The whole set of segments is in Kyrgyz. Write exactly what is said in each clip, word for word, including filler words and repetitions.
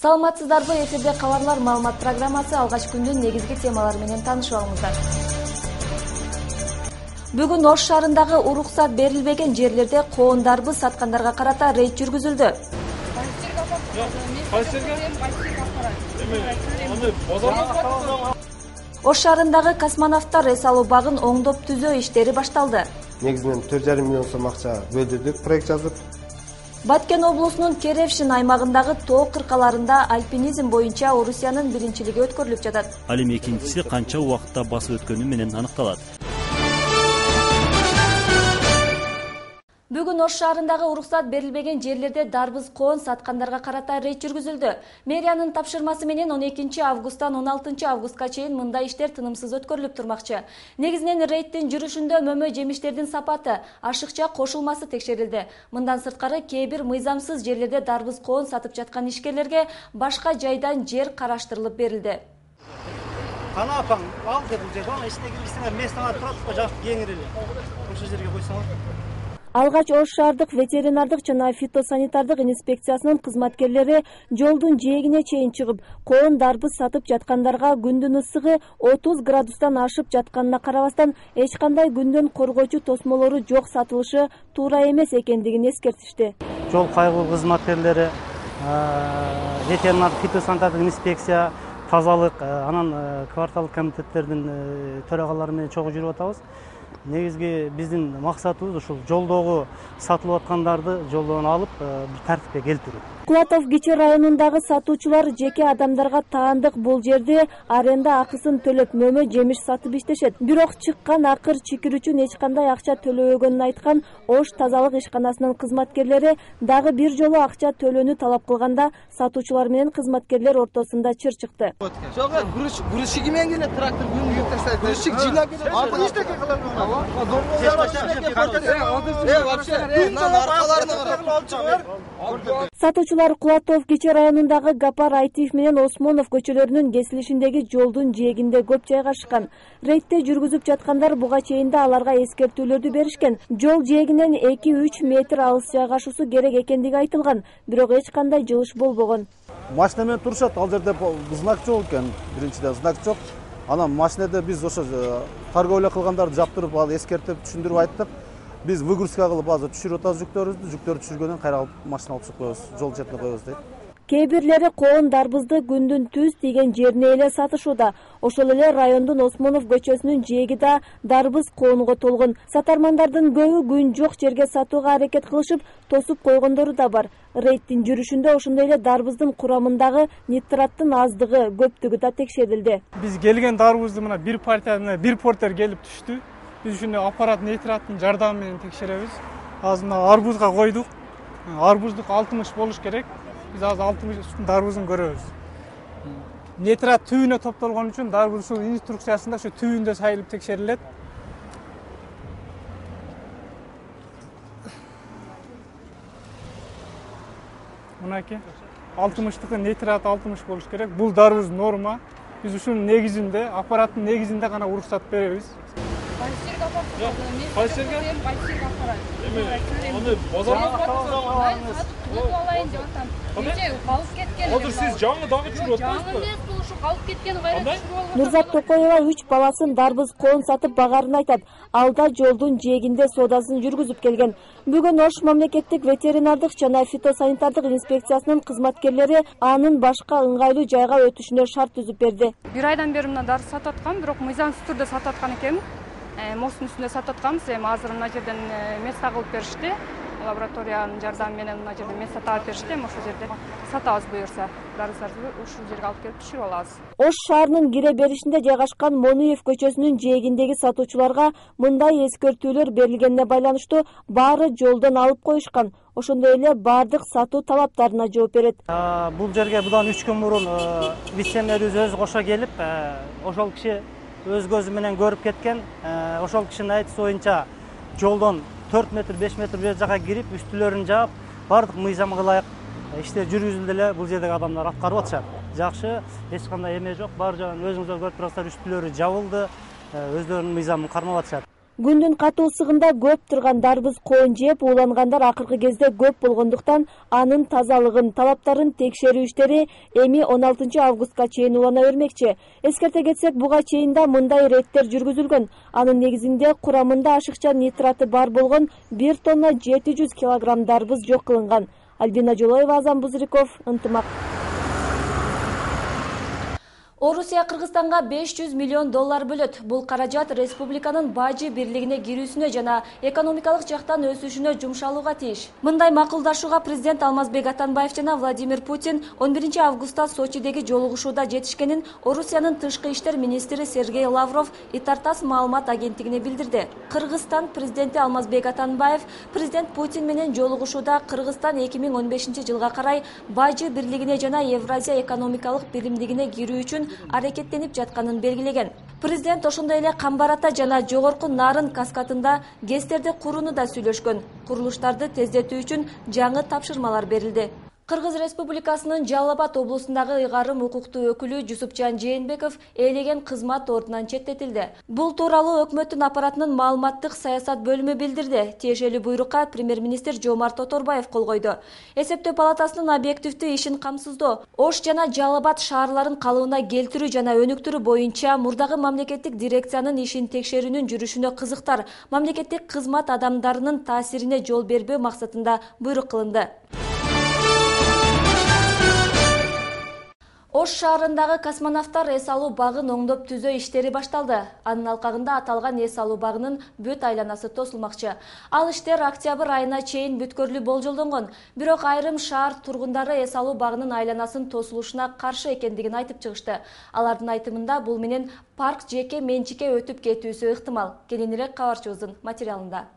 Саламатсыздарбы, эфирде кабарлар маалымат программасы алгач күндүн негизги темалары менен таанышып алыңыздар. Бүгүн Ош шаарындагы уруксат берилбеген жерлерде коондарбы саткандарга карата рейд жүргүзүлдү. Ош шаарындагы космонавттар эс алуу багын оңдоп түзөө иштери башталды. Негизинен төрт жарым миллион сом акча бөлдүрдүк, проект жазып. Баткен облусунун Керевшин аймагындагы тоо кыркаларында альпинизм боюнча Орусиянын биринчилиги өткөрүлүп жатат. Ал эми экинчиси канча убакытта басып өткөнү менен аныкталат. Бүгүн Ош шаарындагы уруксат берилбеген жерлерде дарбыз коон саткандарга карата рейд жүргүзүлдү. Мэриянын тапшырмасы менен он экинчи августтан он алтынчы августка чейин мындай иштер тынымсыз өткөрүлүп турмакчы. Негизинен рейдтин жүрүшүндө мөмө жемиштердин сапаты, ашыкча кошулмасы текшерилди. Мындан сырткары кээ бир мыйзамсыз жерлерде дарбыз коон сатып жаткан ишкерлерге башка жайдан жер караштырылып берилди. Кана апаң, ал деп бул жерде, ана ичине кирсеңер, местаңар турат, жак кеңири эле. Ошол жерге койсоңор. Алгач Ош шаардык ветеринардык жана фитосанитардык инспекциясынын кызматкерлери жолдун жээгине чейин чыгып, коон дарбыз сатып жаткандарга күндүн ысыгы отуз градустан ашып жатканына карабастан эч кандай күндөн коргоочу тосмолору жок сатылышы туура эмес экендигин эскертишти. Жол кайгуу кызматкерлери, ветеринардык фитосанитардык инспекция, тазалык, анан кварталдык комитеттердин төрагалары менен чогуу жүрүп атабыз. Негизги биздин максатыбыз ушул жолдогу сатылып аткандарды жолдон алып, бир тартипке келтирүү. Кулатов Кичи районундагы сатуучулар жеке адамдарга таандык бул жерде аренда акысын төлөп мөмө жемиш сатып иштешет. Бирок чыккан акыр чикир үчүн эч кандай акча төлөбөгөнүн айткан Ош тазалык ишканасынын кызматкерлери дагы бир жолу акча төлөөнү талап кылганда сатуучулар менен кызматкерлер ортосунда чыр чыкты. Жок, грузчик менен келет, трактор күнүгө таштайт. Грузчик жыйлап келет. Аны эчтеке кылам. Сатуучулар Кулатов Кичи районундагы Гапар Айтиев менен Осмонов көчөлөрүнүн кесилишиндеги жолдун жээгинде көп жайгашкан. Рейдте жүргүзүп жаткандар буга чейин да аларга эскертүүлөрдү беришкен. Жол жээгинен эки үч метр алыс жайгашуусу керек экендиги айтылган, бирок эч кандай жылыш болбогон. Машина менен турушат, ал жерде знак жок экен, биринчиден знак жок. Анан машинеде биз ошо торговля кылгандарды жаптырып, ал эскертип, түшүндүрүп айттык. Биз выгрузка кылып азыр түшүрүп атабыз жүктөрүбүздү, жүктөрдү түшүргөндөн кайра алып машина алып чыгып коебуз, жол четине коебуз дейт. Кээ бирлери коон дарбызды күндүн түз тийген жерине эле сатышууда. Ошол эле райондун Осмонов көчөсүнүн жээги да дарбыз коонго толгон. Сатармандардын көбү күн жок жерге сатууга аракет кылышып, тосуп койгондору да бар. Рейдтин жүрүшүндө ошондой эле дарбыздын курамындагы нитраттын аздыгы, көптүгү да текшерилди. Биз келген дарбызды мына бир партия менен бир портер келип түштү. Биз ушуну аппарат нитраттын жардамы менен текшеребиз. Азыр мына арбузга койдук. Арбуздук алтымыш болуш керек. Биз азыр алтымыштын дарбызын көрөбүз. Нитрат түбүнө топтолгон үчүн дарбыз ушул инструкциясында ушу түбүндө сайылып текшерилет. Мынакей алтымыштыкы нитрат алтымыш болуш керек. Бул дарбыз норма. Биз ушунун негизинде, аппараттын негизинде гана уруксат беребиз. Азыр сиз жаңы дагы чүрүп атасызбы? Нурзат Токоева үч баласын дарбыз коон сатып багарын айтат. Алда жолдун жээгинде соодасын жүргүзүп келген. Бүгүн Ош мамлекеттик ветеринардык жана фитосанитардык инспекциясынын кызматкерлери анын башка ыңгайлуу жайга өтүшүнө шарт түзүп берди. Бир айдан бери мына дарбыз сатып аткам, бирок мыйзамсыз түрдө сатып аткан экенмин. Мостун үстүндө сатып атканбыз, эми азыр мына жерден место кылып беришти. Лабораториянын жардамы менен мына жерден место таап беришти, эми ошол жерде сатабыз буюрса. Дарбыздарды ушул жерге алып келип түшүрүп алабыз. Ош шаарынын кире беришинде жайгашкан Монуев көчөсүнүн жээгиндеги сатуучуларга мындай эскертүүлөр берилгенине байланыштуу баары жолдон алып коюшкан. Ошондой эле баардык сатуу талаптарына жооп берет. Бул жерге будан үч күн мурун вице-мэрибиз өзү кошо келип, ошол киши өз көзү менен көрүп кеткен. Ошол кишинин айтышы боюнча жолдон төрт метр, беш метр бер жака кирип, үстүлөрүн жаап, бардык мыйзамга ылайык иштер жүргүзүлдү эле. Бул жердеги адамдар аткарып атышат. Жакшы, эч кандай эме жок. Баары жагын өзүңүздөр көрүп турасыздар, үстүлөрү жабылды, өздөрүнүн мыйзамын кармап атышат. Күндүн катуу ысыгында көп турган дарбыз коон жеп уулангандар акыркы кезде көп болгондуктан анын тазалыгын, талаптарын текшерүү иштери эми он алтынчы августка чейин улана бермекчи. Эскерте кетсек, буга чейин да мындай рейдтер жүргүзүлгөн. Анын негизинде курамында ашыкча нитраты бар болгон бир тонна жети жүз килограмм дарбыз жок кылынган. Альбина Жолоева, Азам Бузриков, Ынтымак. Орусия Кыргызстанга беш жүз миллион доллар бөлөт. Бул каражат республиканын бажы бирлигине кирүүсүнө жана экономикалык жактан өсүшүнө жумшалууга тийиш. Мындай макулдашууга президент Алмазбек Атамбаев жана Владимир Путин он биринчи августта Сочидеги жолугушууда жетишкенин Орусиянын тышкы иштер министри Сергей Лавров Итартас маалымат агенттигине билдирди. Кыргызстан президенти Алмазбек Атамбаев президент Путин менен жолугушууда Кыргызстан эки миң он бешинчи жылга карай бажы бирлигине жана Евразия экономикалык биримдигине кирүү үчүн аракеттенип жатканын белгилеген. Президент ошондой эле Камбарата жана Жогорку Нарын каскадында ГЭСтерди курууну да сүйлөшкөн. Курулуштарды тездетүү үчүн жаңы тапшырмалар берилди. Кыргыз Республикасынын Жалал Абад облусундагы ыйгарым укуктуу өкүлү Жусупжан Жээнбеков ээлеген кызмат ордунан четтетилди. Бул тууралуу өкмөттүн аппаратынын маалыматтык саясат бөлүмү билдирди. Тиешелүү буйрукка премьер-министр Жомарт Оторбаев кол койду. Эсептөө палатасынын объективдүү ишин камсыздоо, Ош жана Жалал Абад шаарларын калыбына келтирүү жана өнүктүрүү боюнча мурдагы мамлекеттик дирекциянын ишин текшерүүнүн жүрүшүнө кызыктар, мамлекеттик кызмат адамдарынын таасирине жол бербөө максатында буйрук кылынды. Ош шаарындагы космонавттар эс алуу багын оңдоп түзөө иштери башталды. Анын алкагында аталган эс алуу багынын бүт айланасы тосулмакчы. Ал иштер октябрь айына чейин бүткөрүлүү болжолдонгон. Бирок айрым шаар тургундары эс алуу багынын айланасынын тосулушуна каршы экендигин айтып чыгышты. Алардын айтымында бул менен парк жеке менчикке өтүп кетүүсү ыктымал. Кененирээк кабарчыбыздын материалында.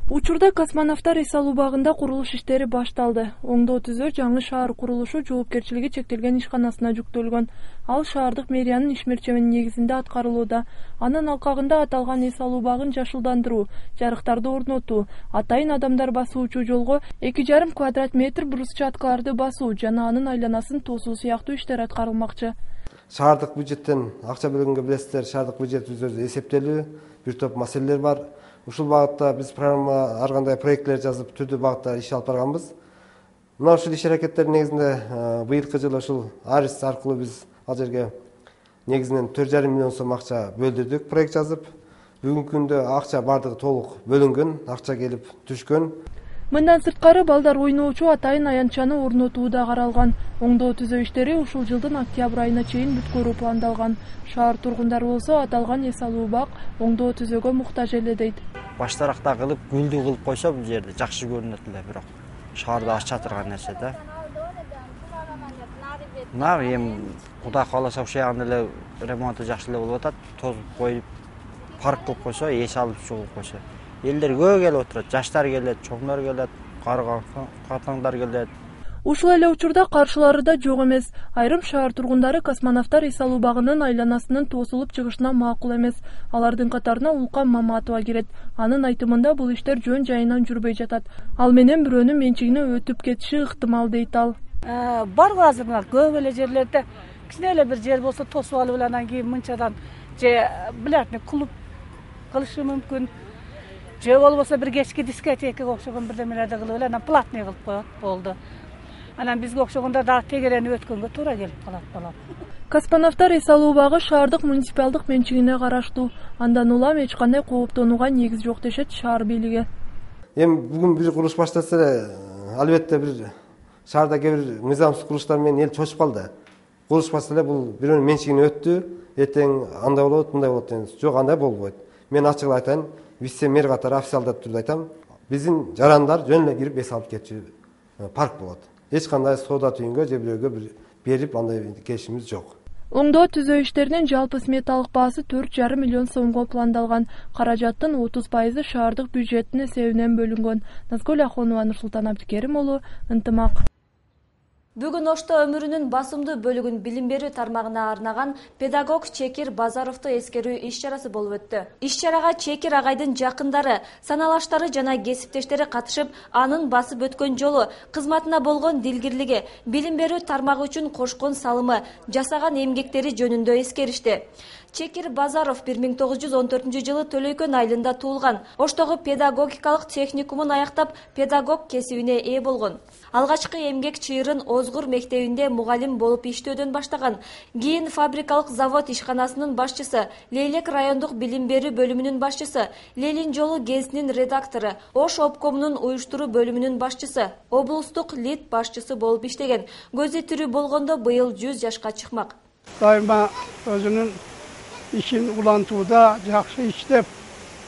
Учурда космонавттар эс алуу багында курулуш иштери башталды. Оңдоо түзөө жаңы шаар курулушу жоопкерчилиги чектелген ишканасына жүктөлгөн. Ал шаардык мэриянын ишмерчебинин негизинде аткарылууда. Анын алкагында аталган эс алуу багын жашылдандыруу, жарыктарды орнотуу, атайын адамдар басуучу жолго эки жарым квадрат метр брусчаткаларды басуу жана анын айланасын тосуу сыяктуу иштер аткарылмакчы. Шаардык бюджеттен акча бөлгөнгө билесиздер, шаардык бюджет өзү эсептелүү, бир топ маселелер бар. Ушул багытта биз программа ар кандай проекттер жазып, түрдүү багытта иш алып барганбыз. Мына ушул иш аракеттердин негизинде быйылкы жылы ушул Арис аркылуу биз ал жерге негизинен төрт жарым миллион сом акча бөлдүрдүк, проект жазып. Бүгүнкү күндө акча бардыгы толук бөлүнгөн, акча келип түшкөн. Мындан сырткары балдар ойноочу атайын аянтчаны орнотуу да каралган. Оңдоо түзөө иштери ушул жылдын октябрь айына чейин бүткөрүү пландалган. Шаар тургундары болсо аталган эс алуу бак оңдоо түзөөгө муктаж эле дейт. Баштаракта кылып, гүлдүү кылып койсо бул жерде жакшы көрүнөт эле, бирок шаарда ача турган нерсе да. Мына эми Кудай кааласа ушул ягында эле ремонту жакшы эле болуп атат. Тозуп коюп, парк кылып койсо, эс алып чыгып койсо. Элдер көп келип отурат, жаштар келет, чоңдор келет, картаңдар келет. Ушул эле учурда каршылары да жок эмес. Айрым шаар тургундары космонавттар эс алуу багынын айланасынын тосулуп чыгышына макул эмес. Алардын катарына Улкан Маматова кирет. Анын айтымында бул иштер жөн жайынан жүрбөй жатат. Ал менен бирөөнүн менчигине өтүп кетиши ыктымал дейт ал. Бар азыр көп эле жерлерде кичине эле бир жер болсо тосуп алып эле анан кийин мынчадан же билетин клуб кылышы мүмкүн. Же болбосо бир кечки дискотекага окшогон бирдемелерди кылып эле анан платный кылып коет, болду. Анан бизге окшогондор дагы тегерени өткөнгө туура келип калат балам. Космонавттар эс алуу багы шаардык муниципалдык менчигине караштуу. Андан улам эч кандай кооптонууга негиз жок дешет шаар бийлиги. Эми бүгүн бир курулуш башталса эле, албетте бир шаарда кээ бир мыйзамсыз курулуштар менен эл чочуп калды. Курулуш баштаса эле бул бирөөнүн менчигине өттү, эртең андай болот, мындай болот деген. Жок, андай болбойт. Мен ачык айтайын, вице-мэр катары официалдуу түрдө айтам, биздин жарандар жөн эле кирип эс алып кетчү парк болот. Эч кандай соода түйүнгө же бирөөгө бир берип андай келишимиз жок. Оңдоо түзөө иштеринин жалпы сметалык баасы төрт жарым миллион сомго пландалган. Каражаттын отуз пайызы шаардык бюджеттин эсебинен бөлүнгөн. Назгүл Ахонова, Нурсултан Абдикерим уулу, Ынтымак. Бүгүн Ошто өмүрүнүн басымдуу бөлүгүн билим берүү тармагына арнаган педагог Чекир Базаровду эскерүү иш-чарасы болуп өттү. Иш-чарага Чекир агайдын жакындары, саналаштары жана кесиптештери катышып, анын басып өткөн жолу, кызматына болгон дилгирлиги, билим берүү тармагы үчүн кошкон салымы, жасаган эмгектери жөнүндө эскеришти. Чекир Базаров бир миң тогуз жүз он төртүнчү жылы Төлөйкөн айылында туулган. Оштогу педагогикалык техникумун аяктап, педагог кесибине ээ болгон. Алгачкы эмгек чыйырын Озгур мектебинде мугалим болуп иштөөдөн баштаган. Кийин фабрикалык завод ишканасынын башчысы, Лейлек райондук билим берүү бөлүмүнүн башчысы, Лелин жолу гезитинин редактору, Ош обкомунун уюштуруу бөлүмүнүн башчысы, облустук лит башчысы болуп иштеген. Көзү тирүү болгондо быйыл жүз жашка чыкмак. Дайыма өзүнүн ишин улантууда жакшы иштеп,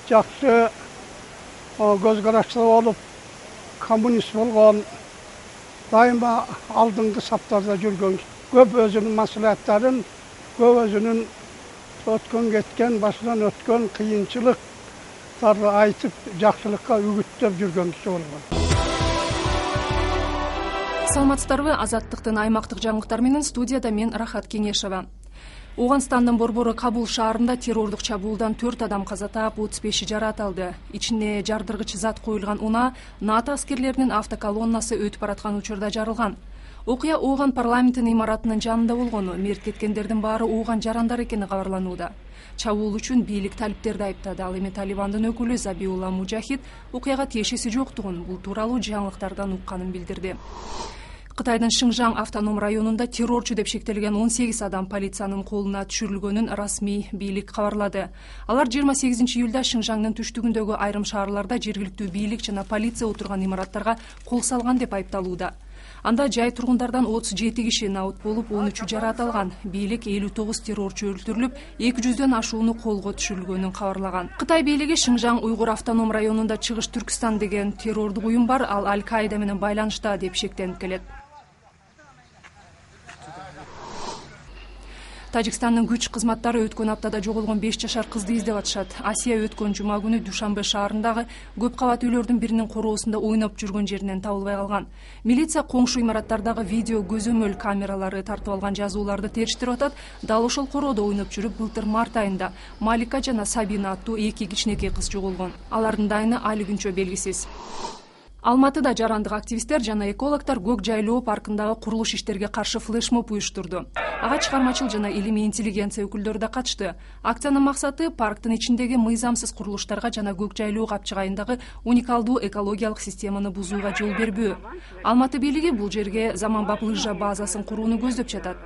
жакшы көз караштуу болуп, коммунист болгон, дайыма алдыңкы саптарда жүргөн. Көп өзүнүн маслихаттарын, көп өзүнүн өткөн кеткен, башынан өткөн кыйынчылыктарды айтып, жакшылыкка үгүттөп жүргөн киши болгон. Саламатсыздарбы, Азаттыктын аймактык жаңылыктары менен студияда мен Рахат Кеңешова. Ооганстандын борбору Кабул шаарында террордук чабуулдан төрт адам каза таап, отуз беши жаракат алды. Ичине жардыргыч зат коюлган унаа НАТО аскерлеринин автоколоннасы өтүп бараткан учурда жарылган. Окуя Ооган парламентинин имаратынын жанында болгону, мерт кеткендердин баары Ооган жарандар экени кабарланууда. Чабуул үчүн бийлик талиптерди айыптады. Ал эми Талибандын өкүлү Забиулла Мужахид окуяга тиешеси жоктугун, бул тууралуу жаңылыктардан укканын билдирди. Кытайдын Шыңжаң автоном районунда террорчу деп шектелген он сегиз адам полициянын колуна түшүрүлгөнүн расмий бийлик кабарлады. Алар жыйырма сегизинчи июлда Шыңжаңдын түштүгүндөгү айрым шаарларда жергиликтүү бийлик жана полиция отурган имараттарга кол салган деп айыпталууда. Анда жай тургундардан отуз жети киши наут болуп, он үчү жаракат алган. Бийлик элүү тогуз террорчу өлтүрүлүп, эки жүздөн ашууну колго түшүрүлгөнүн кабарлаган. Кытай бийлиги Шыңжаң уйгур автоном районунда Чыгыш Түркстан деген террордук уюм бар, ал Аль-Каида менен байланышта деп шектенип келет. Тажикстандын күч кызматтары өткөн аптада жоголгон беш жашар кызды издеп атышат. Асия өткөн жума күнү Душанбе шаарындагы көп кабат үйлөрдүн биринин короосунда ойноп жүргөн жеринен табылбай калган. Милиция коңшу имараттардагы видео көзөмөл камералары тартып алган жазууларды териштирип атат. Дал ошол короодо ойноп жүрүп, былтыр март айында Малика жана Сабина аттуу эки кичинекей кыз жоголгон. Алардын дайыны али күнчө белгисиз. Алматыда жарандык активисттер жана экологдор Көк жайлоо паркындагы курулуш иштерге каршы флешмоб уюштурду. Ага чыгармачыл жана илимий интеллигенция өкүлдөрү да катышты. Акциянын максаты парктын ичиндеги мыйзамсыз курулуштарга жана Көк жайлоо капчыгайындагы уникалдуу экологиялык системаны бузууга жол бербөө. Алматы бийлиги бул жерге заманбап лыжа базасын курууну көздөп жатат.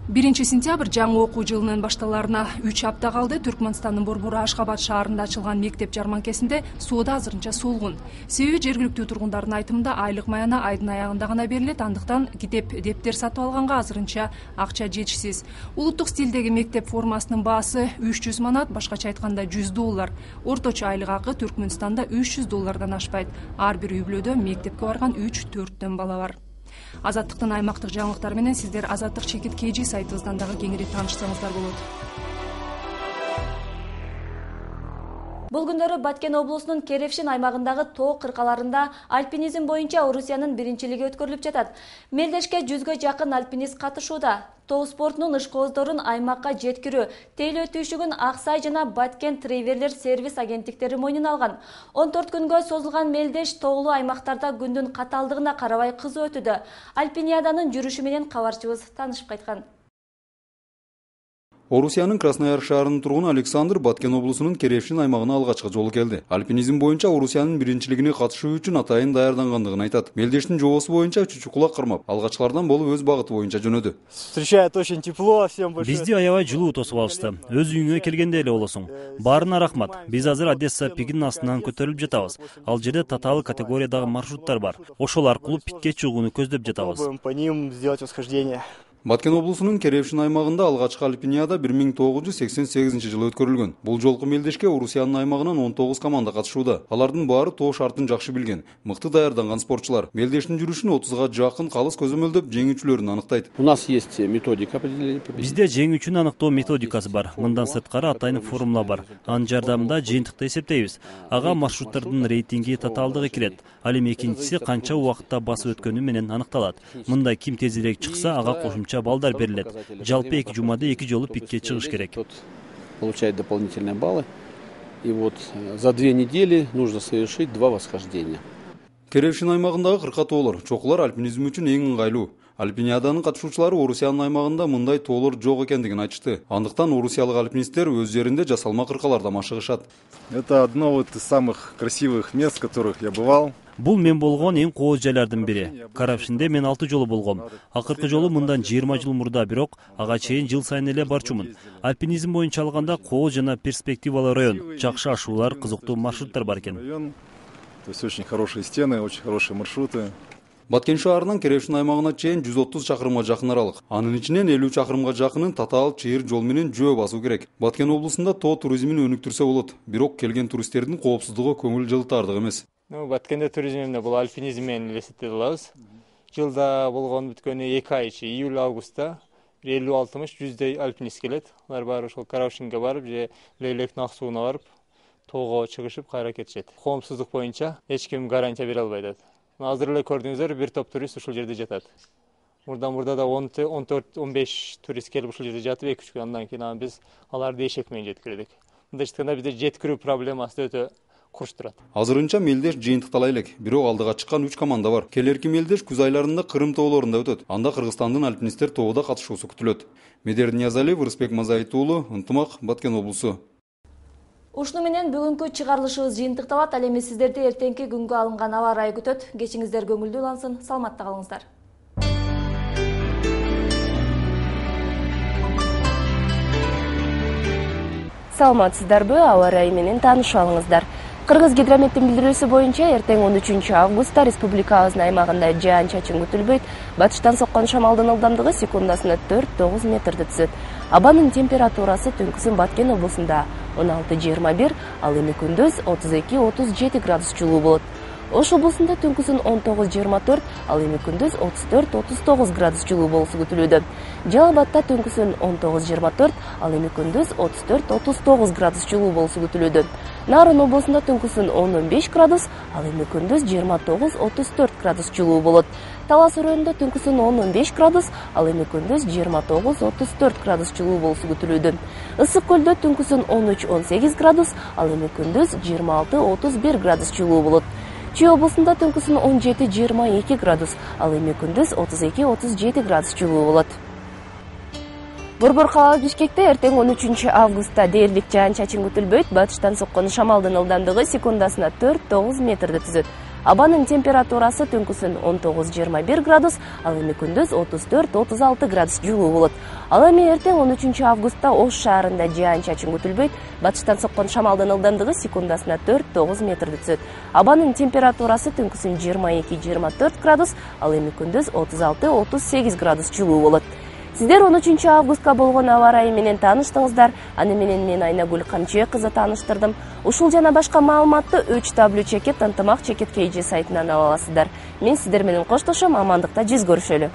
биринчи сентябрь жаңы окуу жылынын башталарына үч апта калды. Түркмөнстандын борбору Ашхабад шаарында ачылган мектеп жарманкесинде соода азырынча солгун. Себеби жергиликтүү тургундардын айтымында айлык маяна айдын аягында гана берилет, андыктан китеп, дептер сатып алганга азырынча акча жетишсиз. Улуттук стилдеги мектеп формасынын баасы үч жүз манат, башкача айтканда жүз доллар. Орточо айлык акы Түркмөнстанда үч жүз доллардан ашпайт. Ар бир үй бүлөдө мектепке барган үч төрттөн бала бар. Азаттыктын аймактык жаңылыктары менен сиздер Азаттык чекит kg сайтыбыздан дагы кеңири таанышсаңыздар болот. Бул күндөрү Баткен облусунун Керевшин аймагындагы тоо кыркаларында альпинизм боюнча Орусиянын биринчилиги өткөрүлүп жатат. Мелдешке жүзгө жакын альпинист катышууда. Тоо спортунун ышкооздорун аймакка жеткирүү, тейлөө түйшүгүн Аксай жана Баткен Тревелер сервис агенттиктери мойнуна алган. он төрт күнгө созулган мелдеш тоолуу аймактарда күндүн каталдыгына карабай кызуу өтүүдө. Альпиниаданын жүрүшү менен кабарчыбыз таанышып кайткан. Орусиянын Краснояр шаарынын тургуну Александр Баткен облусунун Керевшин аймагына алгачкы жолу келди. Альпинизм боюнча Орусиянын биринчилигине катышуу үчүн атайын даярдангандыгын айтат. Мелдештин жобосу боюнча чучукулак кармап, алгачкылардан болуп өз багыты боюнча жөнөдү. Встречает очень тепло, всем большое. Бизди аябай жылуу тосуп алышты. Өз үйүңө келгендей эле болосуң. Баарына рахмат. Биз азыр Одесса пигинин астынан көтөрүлүп жатабыз. Ал жерде татаал категориядагы маршруттар бар. Ошол аркылуу пикке чыгууну көздөп жатабыз. По ним сделать восхождение. Баткен облусунун Керевшин аймагында алгачкы альпиниада бир миң тогуз жүз сексен сегизинчи жылы өткөрүлгөн. Бул жолку мелдешке Орусиянын аймагынан он тогуз команда катышууда. Алардын баары тоо шартын жакшы билген, мыкты даярданган спортчулар. Мелдештин жүрүшүн отузга жакын калыс көзөмөлдөп жеңүүчүлөрүн аныктайт. У нас есть методика определения. Бизде жеңүүчүнү аныктоо методикасы бар. Мындан сырткары атайын формула бар. Анын жардамында жыйынтыкты эсептейбиз. Ага маршруттардын рейтинги, татаалдыгы кирет. Ал эми экинчиси канча убакытта басып өткөнү менен аныкталат. Мында ким тезирээк чыкса, ага кошумча балдар берилет. Жалпы эки жумада эки жолу пикке чыгыш керек. Получает дополнительные баллы. И вот за две недели нужно совершить два восхождения. Керевшин аймагындагы кырка тоолор, чокулар альпинизм үчүн эң ыңгайлуу. Альпиниаданын катышуучулары Орусиянын аймагында мындай тоолор жок экендигин айтышты. Андыктан орусиялык альпинисттер өз жеринде жасалма кыркаларда машыгышат. Это одно вот из самых красивых мест, в которых я бывал. Бул мен болгон эң кооз жайлардын бири. Карапшинде мен алты жолу болгом. Акыркы жолу мындан жыйырма жыл мурда, бирок ага чейин жыл сайын эле барчумун. Альпинизм боюнча алганда кооз жана перспективалуу район. Жакшы ашуулар, кызыктуу маршруттар бар экен. То есть очень хорошие стены, очень хорошие маршруты. Баткен шаарынан Керевшин аймагына чейин жүз отуз чакырымга жакын аралык. Анын ичинен элүү чакырымга жакынын татаал чыйыр жол менен жөө басуу керек. Баткен облусунда тоо туризмин өнүктүрсө болот. Бирок келген туристтердин коопсуздугу көңүл жылытардык эмес. Ну, Баткенде туризм эмне бул альпинизм менен элестете алабыз. Жылда болгон бүткөнү эки ай ичи, июль августта элүү алтымыш жүздөй альпинист келет. Алар баары ошол Каравшинге барып, же Лейлектин ак сууна барып, тоого чыгышып кайра кетишет. Коомсуздук боюнча эч ким гарантия бере албай атат. Азыр эле көрдүңүздөр, бир топ турист ушул жерде жатат. Мурда мурда да он төрт он беш турист келип ушул жерде жатып, эки үч күн андан кийин биз аларды эшек менен жеткирдик. Мындайча айтканда бизде жеткирүү проблемасы өтө курч турат. Азырынча мелдеш жыйынтыктала элек, бирок алдыга чыккан үч команда бар. Келерки мелдеш күз айларында Кырым тоолорунда өтөт. Анда Кыргызстандын альпинисттер тоодо катышуусу күтүлөт. Медер Ниязалиев, Рыспек Мазаитуулу, Ынтымак, Баткен облусу. Ушуну менен бүгүнкү чыгарылышыбыз жыйынтыкталат. Ал эми сиздерди эртеңки күнгө алынган аба ырайы күтөт. Кечиңиздер көңүлдүү улансын, саламатта калыңыздар. Саламатсыздарбы, аба ырайы менен таанышып алыңыздар. Кыргыз гидрометтин билдирүүсү боюнча эртең он үчүнчү августта республикабыздын аймагында жаан-чачын күтүлбөйт. Батыштан соккон шамалдын ылдамдыгы секундасына төрт тогуз метрди түзөт. Абанын температурасы түнкүсүн Баткен облусунда он алты жыйырма бир, ал эми күндүз отуз эки отуз жети градус жылуу болот. Ош облусунда түнкүсүн он тогуз жыйырма төрт, ал эми күндүз отуз төрт отуз тогуз градус жылуу болуусу күтүлүүдө. Жалал Абадта түнкүсүн он тогуз жыйырма төрт, ал эми күндүз отуз төрт отуз тогуз градус жылуу болуусу күтүлүүдө. Нарын облусунда түнкүсүн он он беш градус, ал эми күндүз жыйырма тогуз отуз төрт градус жылуу болот. Талас районунда түнкүсүн он он беш градус, ал эми күндүз жыйырма тогуз отуз төрт градус жылуу болуусу күтүлүүдө. Ысык көлдө түнкүсүн он үч он сегиз градус, ал эми күндүз жыйырма алты отуз бир градус жылуу болот. Чүй облусунда түнкүсүн он жети жыйырма эки градус, ал эми күндүз отуз эки отуз жети градус жылуу болот. Борбор калалык Бишкекте эртең он үчүнчү августта дээрлик жаан-чачын күтүлбөйт. Батыштан соккон шамалдын ылдамдыгы секундасына төрт тогуз метрди түзөт. Абанын температурасы түнкүсүн он тогуз жыйырма бир градус, ал эми күндүз отуз төрт отуз алты градус жылуу болот. Ал эми эртең он үчүнчү августта Ош шаарында жаан-чачын күтүлбөйт. Батыштан соккон шамалдын ылдамдыгы секундасына төрт тогуз метрди түзөт. Абанын температурасы түнкүсүн жыйырма эки жыйырма төрт градус, ал эми күндүз отуз алты отуз сегиз градус жылуу болот. Сиздер он үчүнчү августка болгон аба ырайы менен тааныштыңыздар. Аны менен мен Айнагүл Камчыбек кызы тааныштырдым. Ушул жана башка маалыматты үч дабл ю чекит ынтымак чекит кей жи сайтынан ала аласыздар. Мен сиздер менен коштошом, амандыкта жүз көрүшөлү.